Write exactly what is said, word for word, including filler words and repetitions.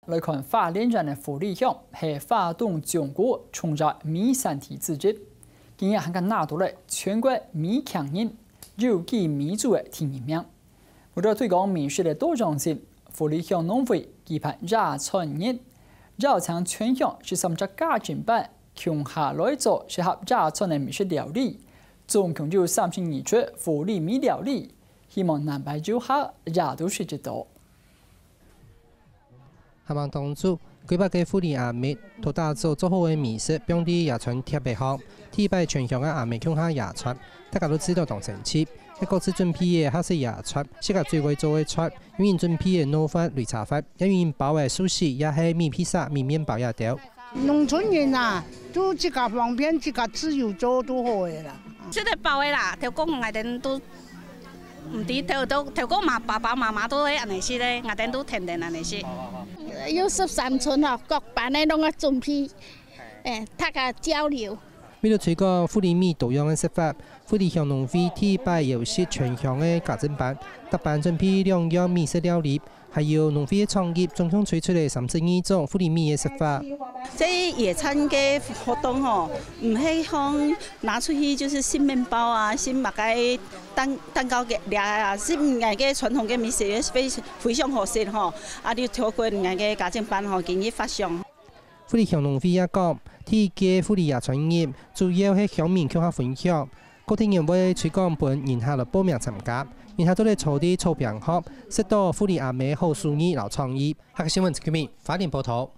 來看花蓮縣个福里鄉，係花東縱谷種植米產地之一。今年還較拿到了全國米強人有機米獎个第二名。為了推廣米食个多樣性，福里鄉農會舉辦野餐日，邀請全鄉十三隻家政班共下來做適合野餐个米食料理，總共有三十二出福里米料理，希望南北遊客也都食得到。 下班當晝，幾百個福里阿姆都打早做好个米食，放佇野餐貼仔項。第一擺全鄉个阿姆共下野餐，大家都試著當新奇。該各自準備个黑色野菜，自家最會做个菜，有人準備个滷飯、擂茶飯，也有人包个壽司，也係米披薩、米麵包也兜。農村人啊，都自家方便，自家自由做都好个啦。食得飽个啦，頭講𠊎等都 毋知頭，頭，頭過嘛，爸爸媽媽都會恁樣食咧，𠊎等都天天恁樣食。有十三寸吼，各班个攏愛準備，誒，大家交流。為了推廣福里米多樣个食法，福里鄉農會第一擺邀請全鄉个家政班，逐班準備兩樣米食料理，還有農會个創意，總共推出了三十二種福里米个食法。 這野餐个活動吼，毋係講拿出去就是食麵包啊，食麼个蛋，蛋糕个啊，食𠊎个傳統个美食也非，非常好食吼。啊，就透過𠊎个家政班吼，今日發想。福里鄉農會也講，第一屆福里野餐日主要係鄉民共下分享，各地人會推廣分人客來報名參加，人客都來坐佇草坪項，食到福里阿姆好手藝摎創意。客家新聞，陳君明，花蓮報導。